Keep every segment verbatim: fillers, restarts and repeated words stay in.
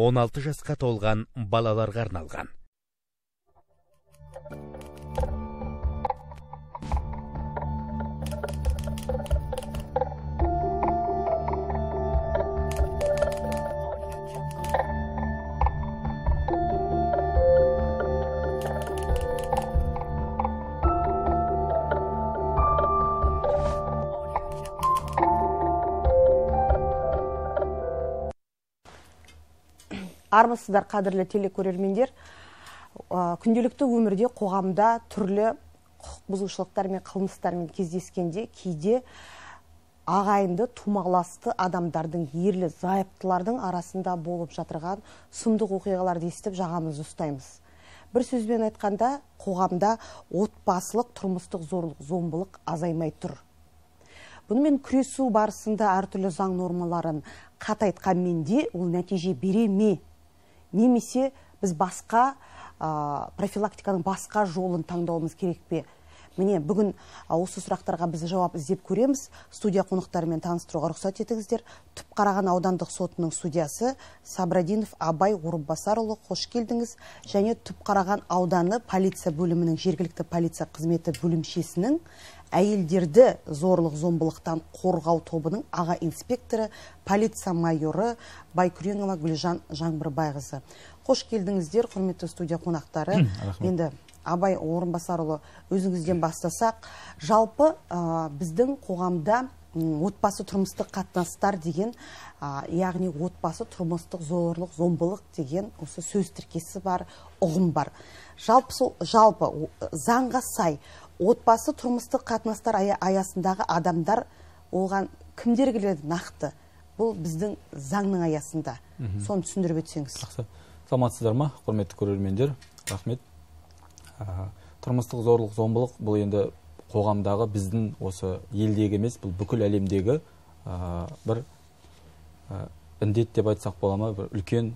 он алты жасқа толған балаларға арналған. Армысыздар, қадірлі телекөрермендер. Күнделікті өмірде қоғамда түрлі құқық бұзушылықтар мен қылмыстармен кездескенде кейде ағайынды тумаласты адамдардың, ерлі зайыптылардың арасында болып жатырған сұмдық оқиғаларды естіп жағамызды ұстаймыз. Бір сөзбен айтқанда, қоғамда отбасылық тұрмыстық зорлық, зомбылық азаймай тұр. Бұнымен күресу барысында әртүрлі заң нормаларын қатайтқанмен де ол нәтиже бере ме? Немесе біз басқа профилактиканың басқа жолын таңдауымыз керек пе? Міне, бүгін осы сұрақтарға біз жауап іздеп көреміз. Студия қонақтарымен таныстыруға рұқсат етіңіздер. Түпқараған аудандық сотының судьясы Сабрадинов Абай Орынбасарұлы, қош келдіңіз. Және Түпқараған ауданы полиция бөлімінің жергілікті полиция қызметі бөлімшесінің әйелдерді зорлық зомбылықтан қорғау тобының аға инспекторы, полиция майоры Байкүренова Гүлжан Жаңбырбайқызы. Қош келдіңіздер, құрметті студия қонақтары. Енді Абай Орынбасарұлы, өзіңізден бастасақ, жалпы біздің қоғамда отбасы тұрмыстық қатынастар деген, яғни отбасы тұрмыстық зорлық, зомбылық деген осы сөз тіркесі бар, ұғым бар. Жалпы, жалпы заңға сай отбасы тұрмыстық қатынастар аясындағы адамдар оған кімдер келеді нақты? Бұл біздің заңның аясында. Соны түсіндіріп өтсеңіз. Саламатсыздар ма, құрметті көрермендер? Рахмет. Тұрмыстық зорлық, зомбылық бұл енді қоғамдағы біздің осы елдегі емес, бұл бүкіл әлемдегі бір індет деп айтсақ бола ма, бір үлкен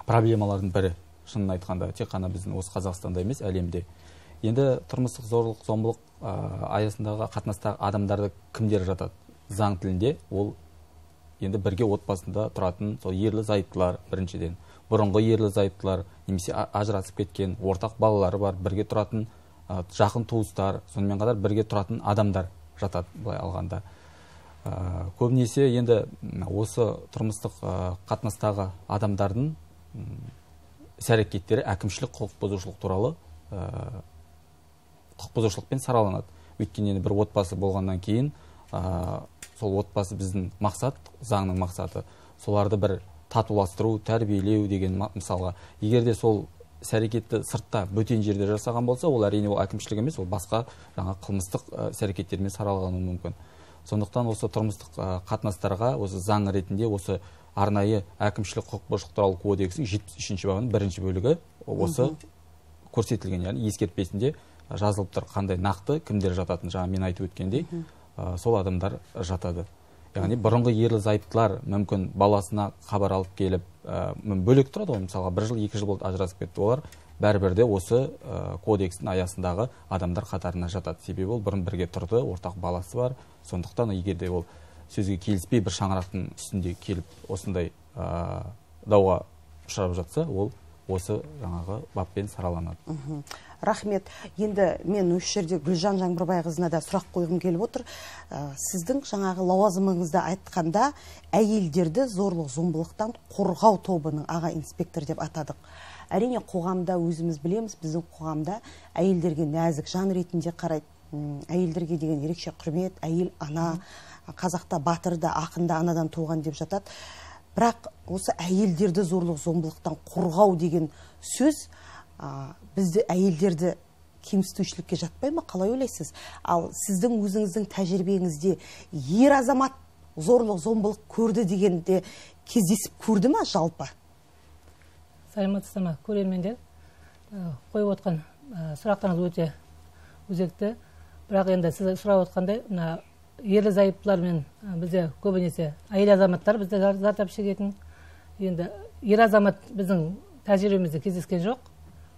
проблемалардың бірі. Шынын айтқанда, тек қана біздің осы Қазақстанда емес, әлемде. Енді тұрмыстық зорлық, зомбылық аясындағы қатынастағы адамдарды кімдер жатады? Заң тілінде ол енді бірге отбасында тұратын сол ерлі зайыптылар біріншіден. Бұрынғы ерлі зайыптылар, немесе ажырасып кеткен, ортақ балалары бар, бірге тұратын жақын туыстар, сонымен қатар бірге тұратын адамдар жатады былай алғанда. Көбінесе енді осы тұрмыстық қатынастағы адамдардың іс-әрекеттері әкімшілік құқық бұзушылық туралы құқық бұзушылықпен сараланады. Өйткені енді бір отбасы болғаннан кейін сол отбасы біздің мақсат, заңның мақсаты, соларды бір татуластыру, тәрбиелеу деген мысалға. Егер де сол іс-әрекетті сыртта бөтен жерде жасаған болса, ол әрине ол әкімшілік емес, ол басқа жаңа қылмыстық іс-әрекеттермен саралануы мүмкін. Сондықтан осы тұрмыстық қатынастарға осы заң ретінде осы арнайы әкімшілік құқық бұзушылық туралы кодексінің жетпіс үшінші бабының бірінші бөлігі осы көрсетілген, яғни ескертпесінде жазылып тұр, қандай нақты кімдер жататын, жаңа мен айтып өткендей, сол адамдар жатады. Яғни бұрынғы ерлі зайыптылар мүмкін баласына хабар алып келіп, бөлек тұрады ғой, мысалға бір жыл, екі жыл болды ажырасып кетті, олар бәрібір де осы кодекстің аясындағы адамдар қатарына жатады. Себебі ол бұрын бірге тұрды, ортақ баласы бар. Сондықтан егер де ол сөзге келіспей бір шаңырақтың үстінде келіп осындай дауға ұшырап жатса, ол осы жаңағы баппен сараланады. Рахмет. Енді мен осы жерде Гүлжан Жаңбырбайқызына да сұрақ қойғым келіп отыр. Сіздің жаңағы лауазымыңызда айтқанда әйелдерді зорлық зомбылықтан қорғау тобының аға инспектор деп атадық. Әрине қоғамда өзіміз білеміз, біздің қоғамда әйелдерге нәзік жан ретінде қарайды. Әйелдерге деген ерекше құрмет, әйел ана, қазақта батырда, ақында анадан туған деп жатады. Бірақ осы әйелдерді зорлық зомбылықтан қорғау деген сөз бізді әйелдерді кемсітушілікке жатпай ма? Қалай ойлайсыз? Ал сіздің өзіңіздің тәжірибеңізде ер азамат зорлық зомбылық көрді дегенде кездесіп көрді ма жалпы? Саламатсыздар ма, көрермендер? Қойып отқан сұрақтарыңыз өте өзекті. Бірақ енді сіз сұрап отқандай, ерлі зайыптылармен бізде көбінесе әйел азаматтар бізде зардап шегетін. Енді ер азамат біздің тәжірибемізде кездескен жоқ.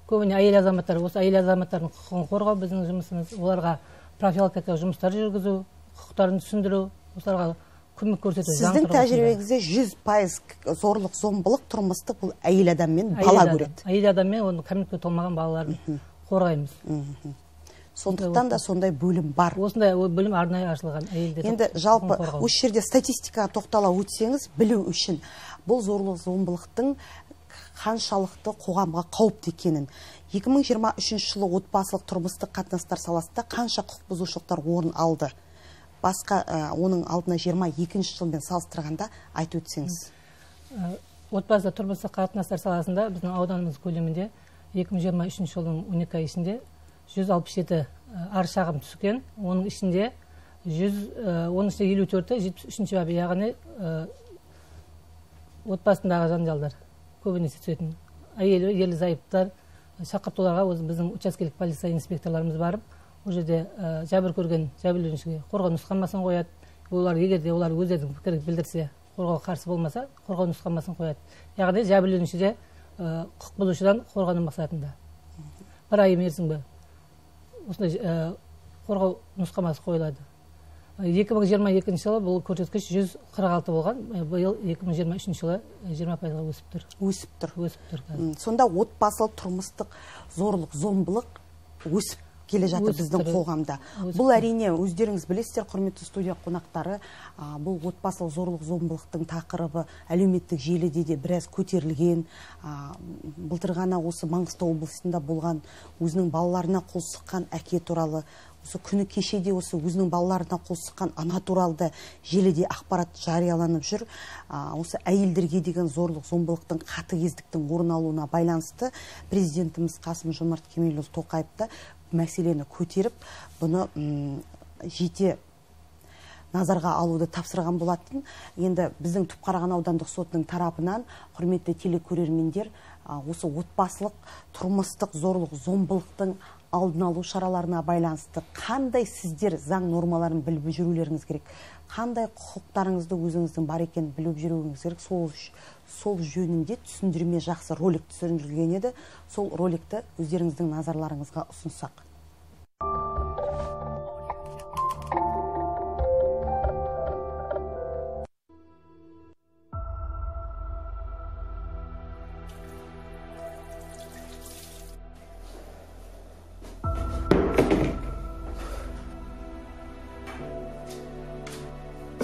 Көбіне әйел азаматтар, осы әйел азаматтардың құқығын қорғау біздің жұмысымыз, оларға профилактика жұмыстар жүргізу, құқықтарын түсіндіру, оларға көмек көрсету. Сіздің тәжірибеңізде жүз пайыз зорлық зомбылық тұрмыстық бұл әйел адам мен бала көреді. Әйел адам мен оны кәмелетке толмаған балаларын қорғаймыз. Сондықтан да сондай бөлім бар. Осындай бөлім арнайы ашылған әйелдер. Енді жалпы осы жерде статистикаға тоқтала өтсеңіз, білу үшін бұл зорлық зомбылықтың қаншалықты қоғамға қауіпті екенін. екі мың жиырма үшінші жылы отбасылық тұрмыстық қатынастар саласында қанша құқық бұзушылықтар орын алды? Басқа оның алдына жиырма екінші жылмен салыстырғанда айтып өтсеңіз. Отбасылық тұрмыстық қатынастар саласында біздің ауданымыз көлемінде екі мың жиырма үшінші жылдың он екі ай ішінде жүз алпыс жеті арыз шағым түскен. Оның ішінде оның ішінде елу төрті жетпіс үшінші бабы, яғни отбасындағы жанжалдар көбінесе түсетін. Әйелі, ерлі зайыптар шақыртуларға біздің учаскелік полиция инспекторларымыз барып, ол жерде жәбір көрген жәбірленушіге қорғау нұсқамасын қояды. Олар егер де олар өздерінің пікірін білдірсе, қорғауға қарсы болмаса, қорғау нұсқамасын қояды. Яғни жәбірленушіде құқық бұзушыдан қорғану мақсатында. Бір ай мерзімге осындай қорғау нұсқамасы қойылады. екі мың жиырма екінші жылы бұл көрсеткіш жүз қырық алты болған. Биыл екі мың жиырма үшінші жылы жиырма пайызға өсіп тұр. Өсіп тұр. Өсіп тұр. Сонда отбасылық тұрмыстық зорлық, зомбылық өсіп келе жатыр біздің қоғамда. Бұл әрине өздеріңіз білесіздер, құрметті студия қонақтары, бұл отбасылық зорлық, зомбылықтың тақырыбы әлеуметтік желіде де біраз көтерілген. Былтыр ғана осы Маңғыстау облысында болған өзінің балаларына қол сұққан әке туралы, осы күні кешеде осы өзінің балаларына қол сұққан ана туралы желіде ақпарат жарияланып жүр. Осы әйелдерге деген зорлық, зомбылықтың, қатыгездіктің орын алуына байланысты президентіміз Қасым-Жомарт Кемелұлы Тоқаевты мәселені көтеріп, бұны жете назарға алуды тапсырған болатын. Енді біздің Түпқараған аудандық сотының тарапынан, құрметті телекөрермендер, осы отбасылық тұрмыстық зорлық, зомбылықтың алдын алу шараларына байланысты қандай сіздер заң нормаларын біліп жүрулеріңіз керек, қандай құқықтарыңызды өзіңіздің бар екенін біліп жүруіңіз керек. Сол сол жөнінде түсіндірме жақсы ролик түсірілген еді. Сол роликті өздеріңіздің назарларыңызға ұсынсақ.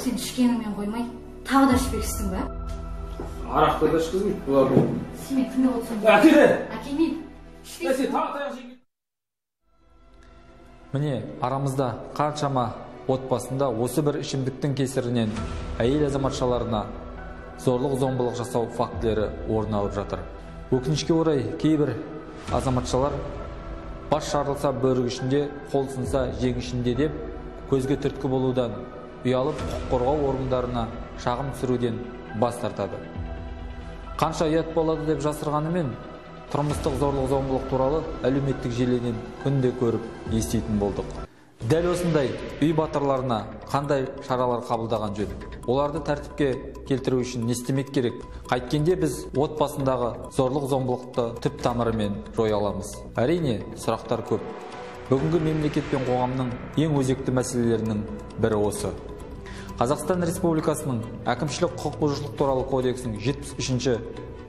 Сен ішкеніңмен қоймай, тағы да ішпексің ба? Арақты да ішкізмейді бұлар. Сен кімге отырсың? Әкеле! Әкелмейді. Сен тағы таяқ жеген. Міне, арамызда қаншама отбасында осы бір ішімдіктің кесірінен әйел азаматшаларына зорлық зомбылық жасау фактілері орын алып жатыр. Өкінішке орай кейбір азаматшалар бас жарылса бөрік ішінде, қол сынса жең ішінде деп көзге түрткі болудан ұялып құқық қорғау органдарына шағым түсіруден бас тартады. Қанша ұят болады деп жасырғанымен, тұрмыстық зорлық зомбылық туралы әлеуметтік желіден күнде көріп еститін болдық. Дәл осындай үй батырларына қандай шаралар қабылдаған жөн? Оларды тәртіпке келтіру үшін не істемек керек? Қайткенде біз отбасындағы зорлық зомбылықты түп тамырымен жоя аламыз? Әрине, сұрақтар көп. Бүгінгі мемлекет пен қоғамның ең өзекті мәселелерінің бірі осы. Қазақстан Республикасының әкімшілік құқық бұзушылық туралы кодексінің жетпіс үшінші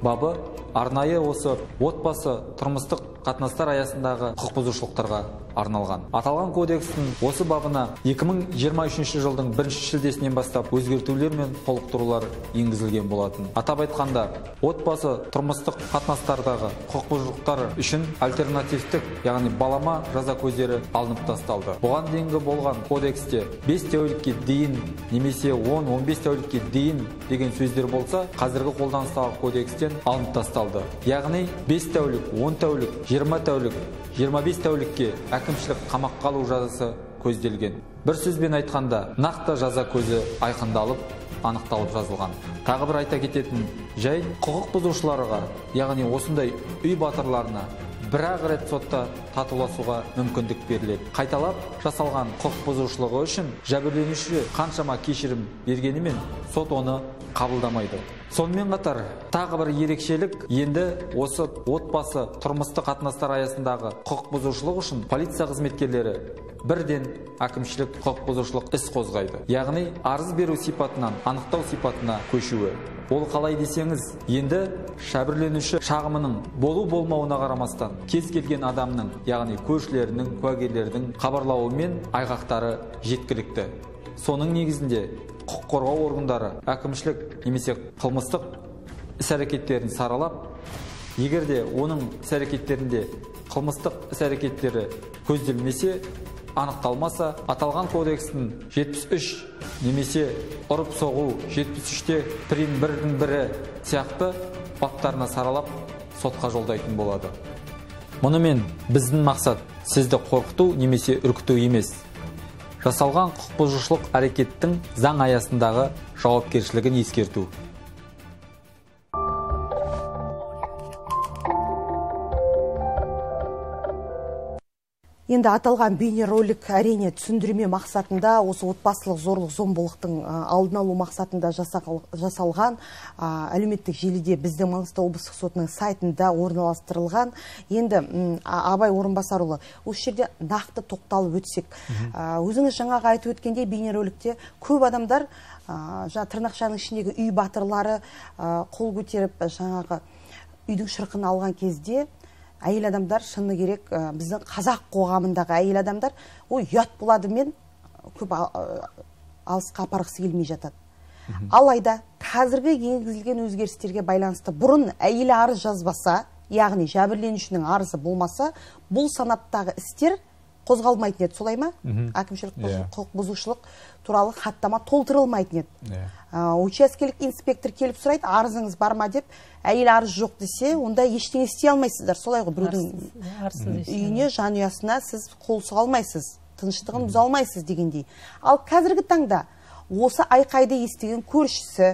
бабы арнайы осы отбасы тұрмыстық қатынастар аясындағы құқық бұзушылықтарға арналған. Аталған кодекстің осы бабына екі мың жиырма үшінші жылдың бірінші шілдесінен бастап өзгертулер мен толықтырулар енгізілген болатын. Атап айтқанда, отбасы тұрмыстық қатынастардағы құқық бұзушылықтар үшін альтернативтік, яғни балама жаза көздері алынып тасталды. Бұған дейінгі болған кодексте бес тәулікке дейін немесе он он бес тәулікке дейін деген сөздер болса, қазіргі қолданыстағы кодекстен алынып тасталды. Яғни бес тәулік, он тәулік, жиырма тәулік, жиырма бес тәулікке әкімшілік қамаққа алу жазасы көзделген. Бір сөзбен айтқанда, нақты жаза көзі айқындалып, анықталып жазылған. Тағы бір айта кететін жай, құқық бұзушыларға, яғни осындай үй батырларына бір-ақ рет сотта татуласуға мүмкіндік беріледі. Қайталап жасалған құқық бұзушылығы үшін жәбірленуші қаншама кешірім бергенімен, сот оны қабылдамайды. Сонымен қатар тағы бір ерекшелік енді осы отбасы тұрмыстық қатынастар аясындағы құқық бұзушылық үшін полиция қызметкерлері бірден әкімшілік құқық бұзушылық іс қозғайды. Яғни арыз беру сипатынан анықтау сипатына көшуі. Ол қалай десеңіз, енді шәбірленуші шағымының болу болмауына қарамастан кез келген адамның, яғни көршілерінің, куәгерлердің хабарлауымен айғақтары жеткілікті. Соның негізінде құқық қорғау органдары әкімшілік немесе қылмыстық іс-әрекеттерін саралап, егер де оның іс-әрекеттерінде қылмыстық іс-әрекеттері көзделмесе, анықталмаса, аталған кодекстің жетпіс үш немесе ұрып соғу жетпіс үште прим бірдің бірі сияқты баптарына саралап сотқа жолдайтын болады. Мұнымен біздің мақсат сізді қорқыту немесе үркіту емес. Жасалған құқық бұзушылық әрекеттің заң аясындағы жауапкершілігін ескерту. Енді аталған бейнеролик әрине түсіндірме мақсатында, осы отбасылық зорлық зомбылықтың алдын алу мақсатында жасалған, әлеуметтік желіде біздің Маңғыстау облыстық сотының сайтында орналастырылған. Енді Абай Орынбасарұлы, осы жерде нақты тоқталып өтсек, өзіңіз жаңағы айтып өткенде бейнероликте көп адамдар тырнақшаның ішіндегі үй батырлары қол көтеріп жаңағы үйдің шырқын алған кезде әйел адамдар, шыны керек, біздің қазақ қоғамындағы әйел адамдар, ой, ұят болады мен көп алысқа апарғысы келмей жатады. Алайда қазіргі енгізілген өзгерістерге байланысты бұрын әйел арыз жазбаса, яғни жәбірленушінің арызы болмаса, бұл санаттағы істер қозғалмайтын еді, солай ма? Әкімшілік құқық бұзушылық туралы хаттама толтырылмайтын еді. Учаскелік инспектор келіп сұрайды, арызыңыз бар ма деп, әйел арыз жоқ десе, онда ештеңе істей алмайсыздар. Солай ғой, біреудің үйіне, жанұясына сіз қол сұға алмайсыз, тыныштығын бұза алмайсыз дегендей. Ал қазіргі таңда осы айқайды естіген көршісі,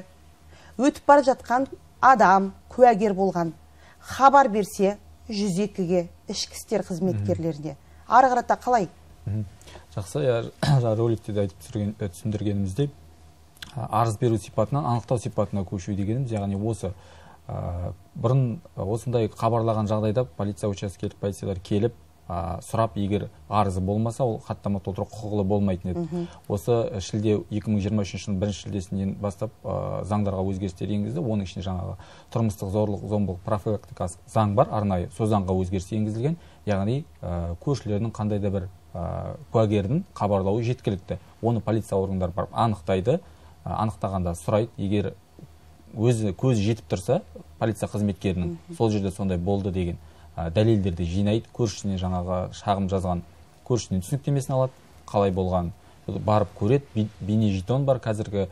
өтіп бара жатқан адам, куәгер болған, хабар берсе жүз екіге, ішкі істер қызметкерлеріне. Ары қарата қалай? Жақсы, роликте де айтып түсіндіргенімізде, арыз беру сипатынан анықтау сипатына көшу дегеніміз, яғни осы бұрын осындай хабарлаған жағдайда полиция учаскелік полициялар келіп сұрап, егер арызы болмаса, ол хаттама толтыру құқылы болмайтын еді. Осы шілде екі мың жиырма үшінші жылдың бірінші шілдесінен бастап заңдарға өзгерістер енгізді. Оның ішінде жаңағы тұрмыстық зорлық зомбылық профилактикасы заң бар, арнайы сол заңға өзгеріс енгізілген. Яғни көршілердің қандай да бір куәгердің хабарлауы жеткілікті. Оны полиция органдары барып анықтайды, анықтағанда сұрайды, егер өзі көзі жетіп тұрса, полиция қызметкерінің сол жерде сондай болды деген дәлелдерді жинайды, көршісіне жаңағы шағым жазған көршісіне түсініктемесін алады, қалай болған барып көреді. Бейне жетон бар, қазіргі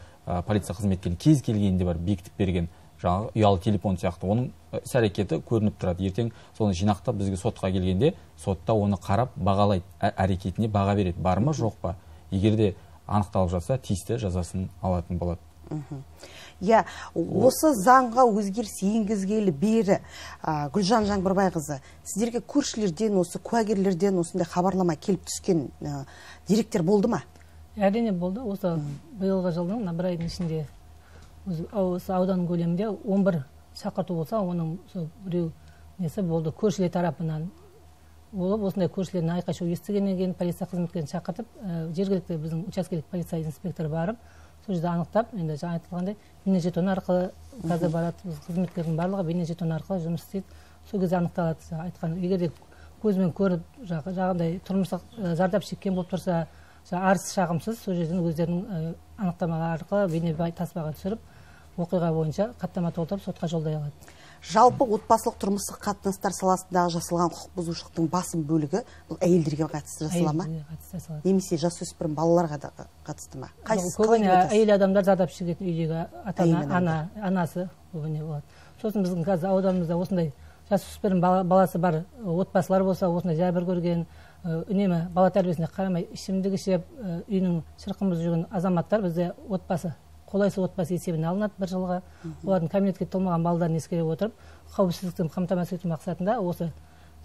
полиция қызметкері кез келгенде бар бекітіп берген жаңағы ұялы телефон сияқты, оның іс-әрекеті көрініп тұрады. Ертең соны жинақтап бізге сотқа келгенде, сотта оны қарап бағалайды, әрекетіне баға береді, бар ма жоқ па. Егер де анықталып жатса, тиісті жазасын алатын болады. Я, осы заңға өзгеріс енгізгелі бері Гүлжан Жаңбырбайқызы, сіздерге көршілерден, осы куәгерлерден осындай хабарлама келіп түскен деректер болды ма? Әрине болды. Осы биылғы жылдың бір айдың ішінде осы аудан көлемінде он бір шақырту болса, оның біреу несі болды, көршілер тарапынан болып, осындай көршілердің айқай-шу естігеннен кейін полиция қызметкерін шақыртып, жергілікті біздің учаскелік полиция инспекторы барып, сол жерде анықтап, енді жаңа айтылғандай, бейнежетон арқылы қазір барады, қызметкердің барлығы бейнежетон арқылы жұмыс істейді. Сол кезде анықталады. Айтқан, егер де көзбен көріп, жағдай тұрмыстық зардап шеккен болып тұрса, арыз шағымсыз, сол жерден өздерінің анықтамалары арқылы бейне таспаға түсіріп, оқиға бойынша хаттама толтырып сотқа жолдай алады. Жалпы отбасылық тұрмыстық қатынастар саласындағы жасалған құқық бұзушылықтың басым бөлігі бұл әйелдерге қатысты жасала ма? Немесе жасөспірім балаларға да қатысты ма? Көбіне әйел адамдар зардап шегетін үйдегі ата-ана, анасы көбіне болады. Сосын біздің қазір ауданымызда осындай жасөспірім баласы бар отбасылар болса, осындай жәбір көрген, үнемі бала тәрбиесіне қарамай ішімдік ішіп, үйінің шырқын бұзып жүрген азаматтар бізде отбасы қолайсыз отбасы есебіне алынады бір жылға. Олардың кәмелетке толмаған балаларын ескере отырып, қауіпсіздікті қамтамасыз ету мақсатында осы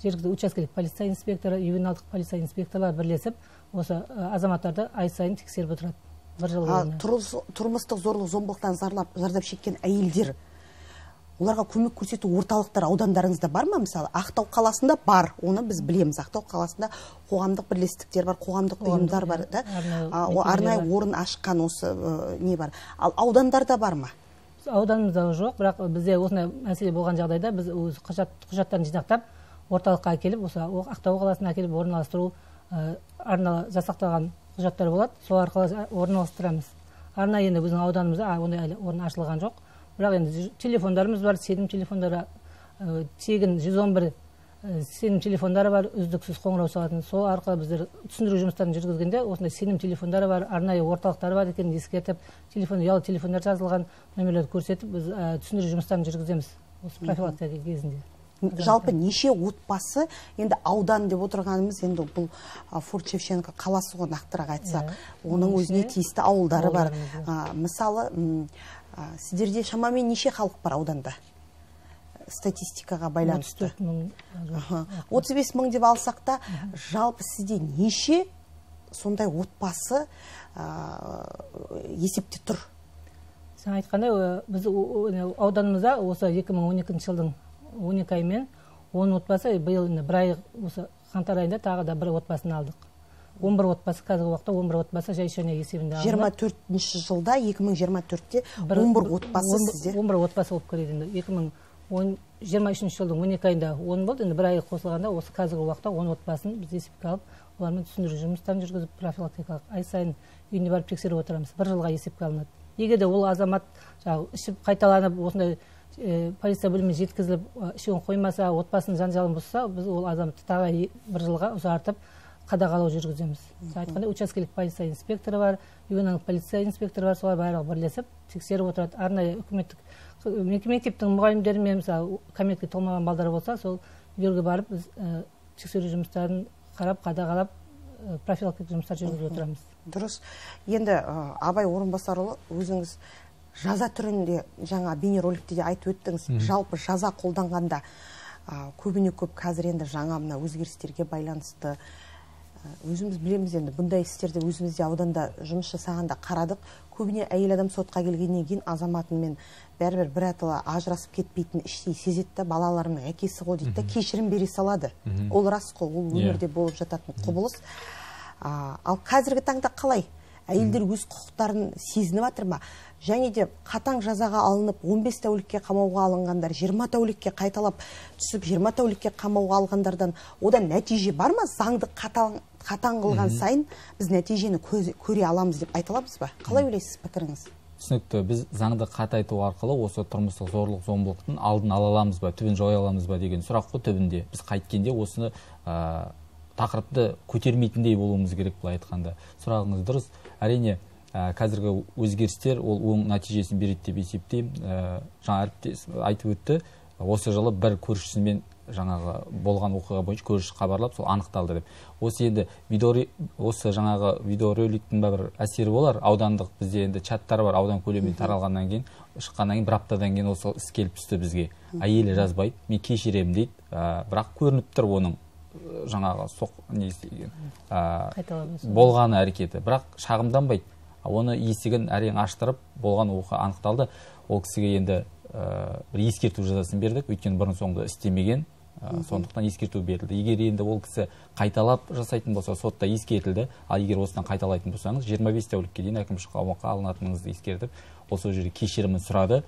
жергілікті учаскелік полиция инспекторы, ювеналдық полиция инспекторлар бірлесіп, осы азаматтарды ай сайын тексеріп отырады. бір жыл А, бойына. тұрмыс- тұрмыстық зорлық зомбылықтан зарлап зардап шеккен әйелдер, оларға көмек көрсету орталықтар аудандарыңызда бар ма? Мысалы, Ақтау қаласында бар, оны біз білеміз. Ақтау қаласында қоғамдық бірлестіктер бар, қоғамдық ұйымдар бар, да? арнайы А, о, мекемелер арнайы бар. орын ашқан осы э, не бар. Ал аудандарда бар ма? Ауданымызда жоқ, бірақ бізде осындай мәселе болған жағдайда біз өз құжат құжаттарын жинақтап орталыққа әкеліп, осы о- Ақтау қаласына әкеліп орналастыру ә, арналы жасақталған құжаттар болады, сол арқылы орналастырамыз. Арнайы енді біздің ауданымызда а, ондай әлі орын ашылған жоқ. Бірақ енді ж- телефондарымыз бар, сенім телефондары, ә, тегін жүз он бір ә, сенім телефондары бар, үздіксіз қоңырау соғатын. Сол арқылы біздер түсіндіру жұмыстарын жүргізгенде осындай сенім телефондары бар, арнайы орталықтары бар екенін ескертіп, телефон, ұялы телефондар жазылған номерлерді көрсетіп, біз ә, түсіндіру жұмыстарын жүргіземіз осы профилактика кезінде. Жалпы неше отбасы, енді аудан деп отырғанымыз, енді бұл а, Форт Шевченко қаласы ғой, нақтырақ айтсақ, оның Оның өзіне ішінде тиісті ауылдары бар. ауылдарымыз А, мысалы, м, а, сіздерде шамамен неше халық бар ауданда? Статистикаға отыз байланысты. төрт мың Аха. отыз бес мың деп алсақ та, жалпы сізде неше сондай отбасы а, есепте тұр? Сен айтқандай, ә, біз о- о- ауданымызда осы екі мың он екінші жылдың он екі аймен он отбасы, биыл енді бір ай осы қаңтар айында тағы да бір отбасын алдық. он бір отбасы, қазіргі уақытта он бір отбасы жай шөне есебінде жиырма алынып. төртінші жылда, екі мың жиырма төртте Бір- он бір отбасы он- сізде. он бір отбасы болып келеді енді. екі мың жиырма үшінші жылдың он екі айында он болды, енді бір ай қосылғанда осы қазіргі уақытта он отбасын біз есепке алып, олармен түсіндіру жұмыстарын жүргізіп, профилактикалық ай сайын үйіне барып тексеріп отырамыз. Бір жылға есепке алынады. Егер де ол азамат жаңағы ішіп қайталанып, осындай э, полиция бөліміне жеткізіліп, э, ішуін қоймаса, отбасының жанжалын бұзса, біз ол азаматты тағы е- бір жылға ұзартып қадағалау жүргіземіз. Сіз айтқандай, учаскелік полиция инспекторы бар, ювеналдық полиция инспекторы бар, солар барлығы бірлесіп тексеріп отырады. Арнайы үкіметтік қ- мектептің мұғалімдерімен, мысалы, кәмелетке толмаған балдар болса, сол үйлерге барып біз э, тексеру жұмыстарын қарап, қадағалап, э, профилактикалық жұмыстар жүргізіп отырамыз. Дұрыс. Енді ә, Абай Орынбасарұлы, өзіңіз жаза түрінде жаңа бейнероликте де айтып өттіңіз. Жалпы жаза қолданғанда ә, көбіне көп қазір енді жаңа мына өзгерістерге байланысты ә, өзіміз білеміз, енді бұндай істерді өзімізде ауданда жұмыс жасағанда қарадық. Көбіне әйел адам сотқа келгеннен кейін азаматымен бәрібір бір атала ажырасып кетпейтін іштей сезеді да, балаларымның әкесі ғой дейді да, кешірім бере салады. Ол рас қой, ол өмірде болып жататын құбылыс. А, ал қазіргі таңда қалай? Әйелдер өз құқықтарын сезініп жатыр ма? Және де қатаң жазаға алынып, он бес тәулікке қамауға алынғандар, жиырма тәулікке қайталап түсіп, жиырма тәулікке қамауға алғандардан одан нәтиже бар ма? Заңды қатаң, қатаң қылған сайын біз нәтижені көз- көре аламыз деп айта аламыз ба? Қалай ойлайсыз, пікіріңіз? Түсінікті, біз заңды қатайту арқылы осы тұрмыстық зорлық зомбылықтың алдын ала аламыз ба, түбін жоя аламыз ба деген сұрақ қой түбінде. Біз қайткенде осыны ә, тақырыпты көтермейтіндей болуымыз керек, былай айтқанда. Сұрағыңыз дұрыс. Әрине, ә, қазіргі өзгерістер ол оң нәтижесін береді деп есептеймін. Ә, жаңа әріптес айтып өтті, осы жылы бір көршісімен жаңағы болған оқиға бойынша көрші хабарлап, сол анықталды деп. Осы енді видео, осы жаңағы видеороликтің бір әсері болар. Аудандық бізде енді чаттар бар, аудан көлемінде таралғаннан кейін, шыққаннан кейін бір аптадан кейін осы іс келіп түсті бізге. Әйелі жазбайды, мен кешіремін дейді, ә, бірақ көрініп тұр оның ә, жаңағы соқ не істеген ә, Қайталанбас. болғаны әрекеті, бірақ шағымданбайды. Оны есігін әрең аштырып, болған оқиға анықталды. Ол кісіге енді ә, бір ескерту жазасын бердік, өйткені бұрын соңды істемеген, ә, сондықтан ескерту берілді. Егер енді ол кісі қайталап жасайтын болса, сотта ескертілді, ал егер осыдан қайталайтын болсаңыз, жиырма бес тәулікке дейін әкімшілік қамауға алынатыныңызды ескертіп, ол сол жерде кешірімін сұрады.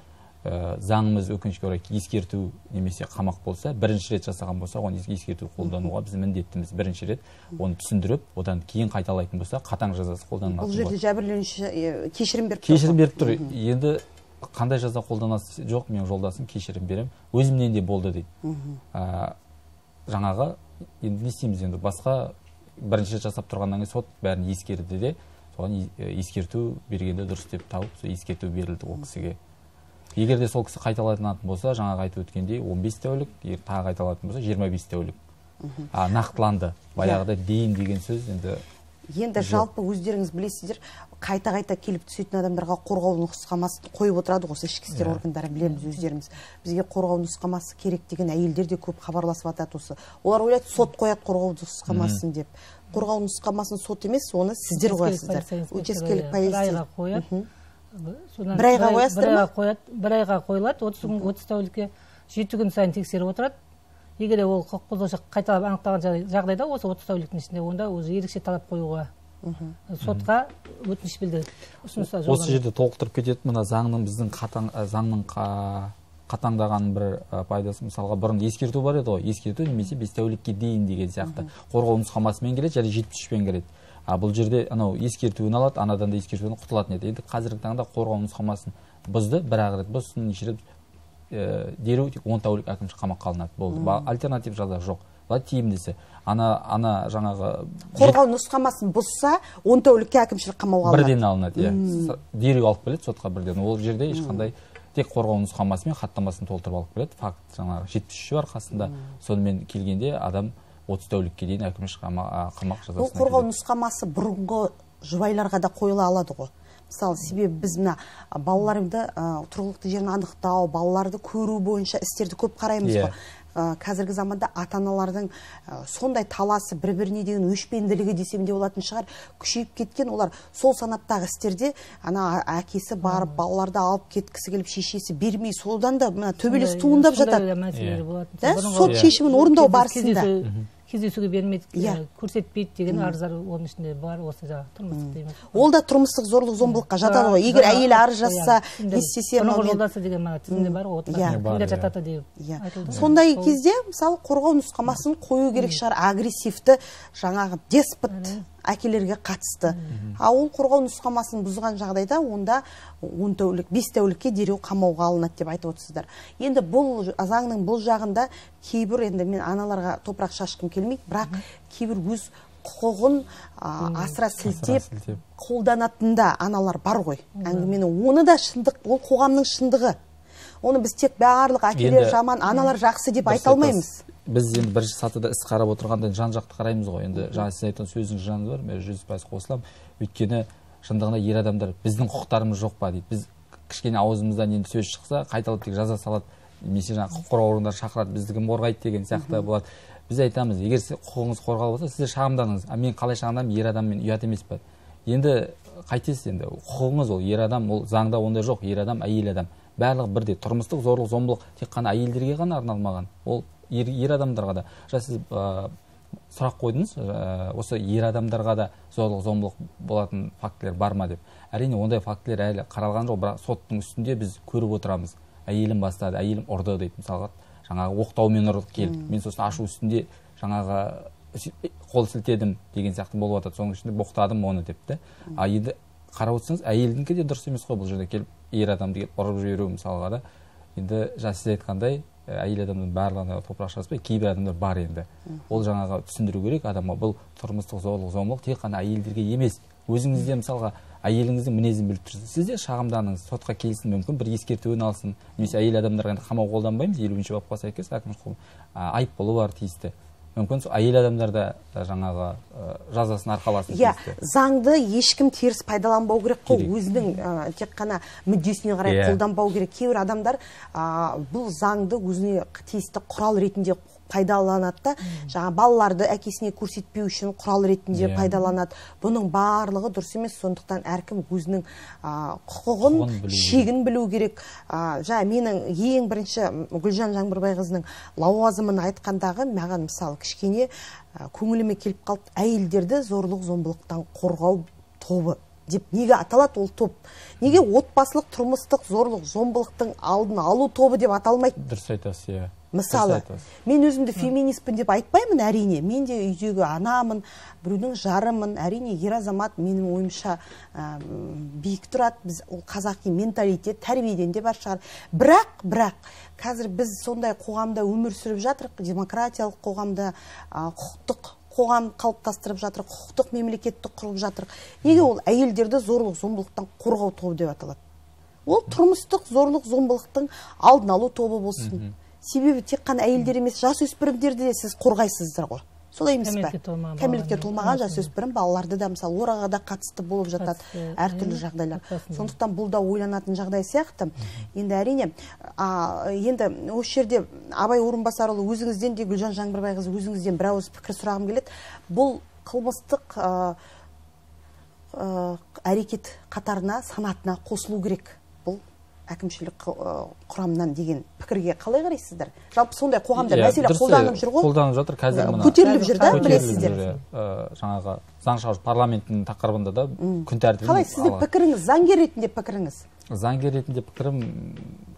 Ә, заңымыз өкінішке орай ескерту немесе қамақ болса, бірінші рет жасаған болса, оны ескерту қолдануға біз міндеттіміз. Бірінші рет оны түсіндіріп, одан кейін қайталайтын болса, қатаң жазасы қолданылатын Бұл жерде жәбірленуші е, кешірім беріп тұр. кешірім беріп тұр. Енді қандай жаза қолданасыз? Жоқ, мен жолдасым кешірім берем, өзімнен де болды дейді. ә, жаңағы енді не істейміз, енді басқа бірінші рет жасап тұрғаннан кейін сот бәрін ескерді де, соған ескерту бергенде дұрыс деп тауып, сол ескерту берілді ол кісіге. Егер де сол кісі қайталайтын болса, жаңағы айтып өткендей он бес тәулік, егер тағы қайталайтын болса жиырма бес тәулік. А, нақтыланды. Баяғыда дейін деген сөз енді Енді жалпы өздеріңіз білесіздер, қайта-қайта келіп түсетін адамдарға қорғау нұсқамасын қойып отырады осы ішкі істер органдары, білеміз өздеріміз. Бізге қорғау нұсқамасы керек деген әйелдер де көп хабарласып жатады осы. Олар ойлайды, сот қояды қорғау нұсқамасын деп. Қорғау нұсқамасын сот емес, оны сіздер қоясыздар. Учаскелік полиция қояды. Бір айға қоясыздар ма? Бір айға қойылады, отыз тәулікке жеті күн сайын тексеріп отырады. Егер ол құқық бұзушылық қайталап анықталған жағдайда осы отыз тәуліктің ішінде онда өзі ерекше талап қоюға сотқа өтініш білдіреді. Осы жерде толықтырып кетеді, мына заңның біздің қатаң заңның қатаңдаған бір пайдасы, мысалға бұрын ескерту бар еді ғой, ескерту немесе бес тәулікке дейін деген сияқты. Қорғау нұсқамасымен келеді, және жетпіс үшпен келеді. А бұл жерде анау ескертуін алады, анадан да ескертуін құтылатын еді. Енді қазіргі таңда қорғау нұсқамасын бұзды, бір-ақ рет бұзсын, неше рет дереу тек он тәулік әкімшілік қамаққа алынады. Болды. Альтернатив жаза жоқ. Бұл тиімдісі. Ана ана жаңағы қорғау нұсқамасын бұзса, он тәулікке әкімшілік қамауға алынады. Бірден алынады, иә. Дереу алып келеді сотқа бірден. Ол жерде ешқандай тек қорғау нұсқамасымен хаттамасын толтырып алып келеді. Факт жаңағы жетпіс үші бар қасында. Сонымен келгенде адам отыз тәулікке дейін әкімшілік қамақ жазасына. Бұл қорғау нұсқамасы бұрынғы жұбайларға да қойыла алады ғой. Мысалы, себебі біз мына балаларымды тұрғылықты жерін анықтау, балаларды көру бойынша істерді көп қараймыз ғой. Қазіргі заманда ата-аналардың сондай таласы, бір-біріне деген өшпенділігі десем де болатын шығар, күшейіп кеткен. Олар сол санаттағы істерде ана әкесі барып балаларды алып кеткісі келіп, шешесі бермей, содан да төбелес туындап жатады. Сот шешімін орындау барысында кездесуге бермейді, көрсетпейді деген арыздар оның ішінде бар, осы жаңағы тұрмыстық дейміз. Ол да тұрмыстық зорлық зомбылыққа жатады ғой. Егер әйел арыз жазса, не істесе, бұрынғы жолдасы деген мына тізімде бар ғой, кімдер жатады деп айтылды. Сондай кезде, мысалы, қорғау нұсқамасын қою керек шығар, агрессивті, жаңағы деспот әкелерге қатысты. А ол қорғау нұсқамасын бұзған жағдайда онда он тәулік, бес тәулікке дереу қамауға алынады деп айтып отырсыздар. Енді бұл заңның бұл жағында кейбір, енді мен аналарға топырақ шашқым келмейді, бірақ кейбір өз құқығын асыра сілтеп қолданатында аналар бар ғой. Әңгіменің оны да шындық, ол қоғамның шындығы. Оны біз тек барлық әкелер жаман, аналар жақсы деп айта алмаймыз. Біз енді бірінші сатыда іс қарап отырғанда жан-жақты қараймыз ғой. Енді жаңа сіз айтқан сөздің жаны бар, мен жүз пайыз қосыламын. Өйткені шындығында ер адамдар біздің құқықтарымыз жоқ па дейді. Біз кішкене аузымыздан енді сөз шықса, қайталап тек жаза салады, немесе жаңа құқық қорғау органдары шақырады, бізді кім қорғайды деген сияқты болады. Біз айтамыз, егер құқығыңыз қорғалып отырса, сіздер шағымданыңыз. А мен қалай шағымданамын, ер адаммен ұят емес пе? Енді қайтесіз, енді құқығыңыз ол, ер адам, ол заңда онда жоқ, ер адам, әйел адам. Барлығы бірде. Тұрмыстық зорлық, зомбылық тек қана әйелдерге ғана арналмаған. Ол ер, ер адамдарға да. Жаңа сіз ә, сұрақ қойдыңыз, ә, осы ер адамдарға да зорлық, зомбылық болатын фактілер бар ма деп. Әрине ондай фактілер әлі қаралған жоқ, бірақ соттың үстінде біз көріп отырамыз. Әйелім бастады, әйелім ұрды дейді. Мысалға, жаңағы оқтаумен ұрды келді. Мен сосын ашу үстінде жаңағы қол сілтедім деген сияқты болып жатады. Соның ішінде боқтадым оны депті. А енді қарап отырсаңыз, әйелдікі де дұрыс емес қой бұл жерде келіп ер адамды келіп ұрып жіберу мысалға да. Енді жаңа сіз айтқандай, әйел адамның барлығына топырақ шашпай, кейбір адамдар бар енді. Ол жаңағы түсіндіру керек адамға, бұл тұрмыстық зорлық, зомбылық тек қана әйелдерге емес. Өзіңізде мысалға әйеліңіздің мінезін біліп тұрсыз, сіз де шағымданыңыз, сотқа келсін, мүмкін бір ескертуін алсын. Немесе әйел адамдарға қамау қолданбаймыз, елуінші бапқа сәйкес әкімшілік айыппұлы бар тиісті. Мүмкін әйел адамдарда жаңағы жазасын арқаласын. Иә, заңды ешкім теріс пайдаланбау керек қой, өзінің тек қана мүддесіне қарай қолданбау керек. Кейбір адамдар бұл заңды өзіне тиісті құрал ретінде пайдаланады да, жаңа балаларды әкесіне көрсетпеу үшін құрал ретінде пайдаланады. Бұның барлығы дұрыс емес, сондықтан әркім өзінің құқығын, шегін білу керек. Жаңа менің ең бірінші Гүлжан Жаңбырбайқызының лауазымын айтқандағы маған мысалы кішкене көңіліме келіп қалды, әйелдерді зорлық зомбылықтан қорғау тобы деп неге аталады ол топ? Неге отбасылық тұрмыстық зорлық зомбылықтың алдын алу тобы деп аталмайды? Дұрыс айтасыз, иә. Мысалы, мен өзімді феминистпін деп айтпаймын, әрине. Мен де үйдегі анамын, біреудің жарымын, әрине ер азамат менің ойымша биік тұрады. Біз ол қазақи менталитет, тәрбиеден де бар шығар. Бірақ, бірақ қазір біз сондай қоғамда өмір сүріп жатырық, демократиялық қоғамда, құқықтық қоғам қалыптастырып жатыр, құқықтық мемлекетті құрып жатыр. Неге ол әйелдерді зорлық зомбылықтан қорғау тобы деп аталады? Ол тұрмыстық зорлық зомбылықтың алдын алу тобы болсын. Себебі тек қана әйелдер емес, жасөспірімдерді де сіз қорғайсыздар ғой. солай емес пе? Кәмелетке толмаған Кәмелетке балалар. толмаған жасөспірім балаларды да мысалы ораға да қатысты болып жатады Қатысты, әртүрлі иә, жағдайлар. отбасында. Сондықтан бұл да ойланатын жағдай сияқты. Енді әрине, а, енді осы жерде Абай Орынбасарұлы өзіңізден де, Гүлжан Жаңбырбайқызы өзіңізден бір ауыз пікір сұрағым келеді. Бұл қылмыстық а, а, әрекет қатарына, санатына қосылу керек. Бұл әкімшілік ы, құрамынан деген пікірге қалай қарайсыздар? Жалпы сондай қоғамда Иә, мәселе дұрыс, қолданып жүр ғой. қолданып жатыр қазір мына Көтеріліп жүр да, көтеріліп білесіздер. жүр, ә, жаңағы заң шығару парламенттің тақырыбында да күн тәртібін Қалай сіздің алған. пікіріңіз, заңгер ретінде пікіріңіз? Заңгер ретінде пікірім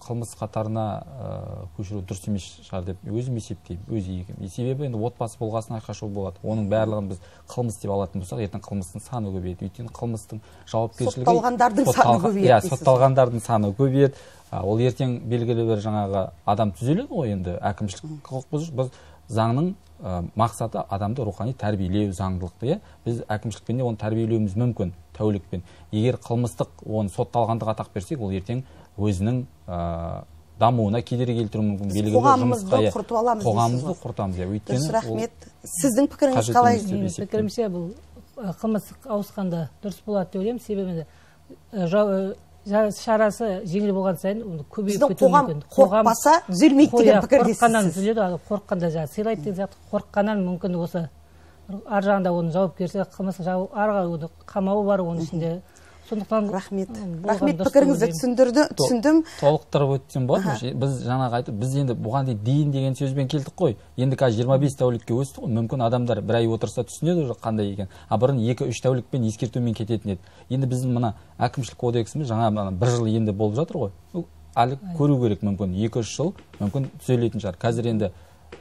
қылмыс қатарына ә, көшіру дұрыс емес шығар деп өзім есептеймін, өз иегім. Себебі енді отбасы болғасын айқашу болады. Оның барлығын біз қылмыс деп алатын болсақ, ертең қылмыстың саны көбейеді. Өйткені қылмыстың жауапкершілігі сотталғандардың саны көбейеді. Иә, сотталғандардың саны көбейеді. Ол ертең белгілі бір жаңағы адам түзеледі ғой енді әкімшілік құқық бұзушы. Біз заңның ә, мақсаты адамды рухани тәрбиелеу, заңдылықты, иә. Біз әкімшілікпен де оны тәрбиелеуіміз мүмкін тәулікпен. Егер қылмыстық оны сотталғандық атақ берсек, ол ертең өзінің ә, дамуына кедергі келтіруі мүмкін. Белгілі бір Қоғамымызды құртып аламыз дейсіз ғой. Қоғамымызды құртамыз, иә. Өйткені Дұрыс, рахмет. Сіздің пікіріңіз қажет қалай? емес деп Менің есептеймін. пікірімше бұл ә, қылмыс ауысқанда дұрыс болады деп ойлаймын. Себебі ә, жау- ә, жа- шарасы жеңіл болған сайын оны көбейіп Біздің кетуі қоғам мүмкін. қорықпаса түзелмейді деген қоя- пікірдесіз. қорыққаннан түзеледі, ал қорыққанда жаңағы сыйлайды деген сияқты қорыққаннан мүмкін осы ар жағында оның жауапкершілігі қылмыс жауап ары қарай оның қамауы бар оның ішінде. Сондықтан Рахмет. болған Рахмет, дұрыс деп пікіріңізді ойлаймын. түсіндірді, түсіндім. Толықтырып өтсем болады. Біз жаңағы айтып, біз енді бұған дейін дейін деген сөзбен келдік қой. Енді қазір жиырма бес тәулікке өсті ғой. Мүмкін адамдар бір ай отырса түсінеді уже қандай екен. А бұрын екі үш тәулікпен ескертумен кететін еді. Енді біздің мына әкімшілік кодексіміз жаңа мына бір жыл енді болып жатыр ғой. Ол әлі көру керек, мүмкін екі үш жыл мүмкін түзелетін шығар. Қазір енді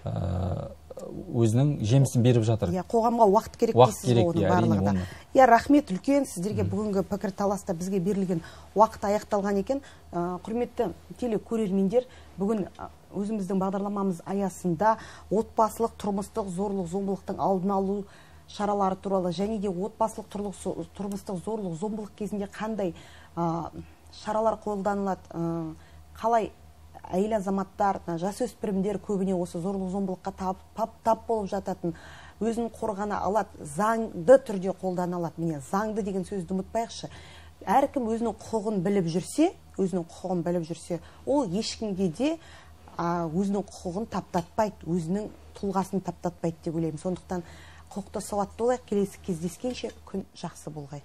ә, өзінің жемісін беріп жатыр. Иә, қоғамға уақыт керек Уақыт дейсіз ғой керек, оның иә, әрине барлығына. оны. Иә, рахмет үлкен сіздерге бүгінгі пікір таласта бізге берілген уақыт аяқталған екен. Ә, құрметті телекөрермендер, бүгін ә, өзіміздің бағдарламамыз аясында отбасылық тұрмыстық зорлық зомбылықтың алдын алу шаралары туралы және де отбасылық тұрлық- тұрмыстық зорлық зомбылық кезінде қандай ә, шаралар қолданылады, ә, қалай әйел азаматтар, жасөспірімдер көбіне осы зорлық зомбылыққа тап, тап, тап болып жататын, өзін қорғана алады, заңды түрде қолдана алады. Міне, заңды деген сөзді ұмытпайықшы. Әркім өзінің құқығын біліп жүрсе, өзінің құқығын біліп жүрсе, ол ешкімге де а, өзінің құқығын таптатпайды, өзінің тұлғасын таптатпайды деп ойлаймын. Сондықтан құқықты сауатты болайық, келесі кездескенше күн жақсы болғай.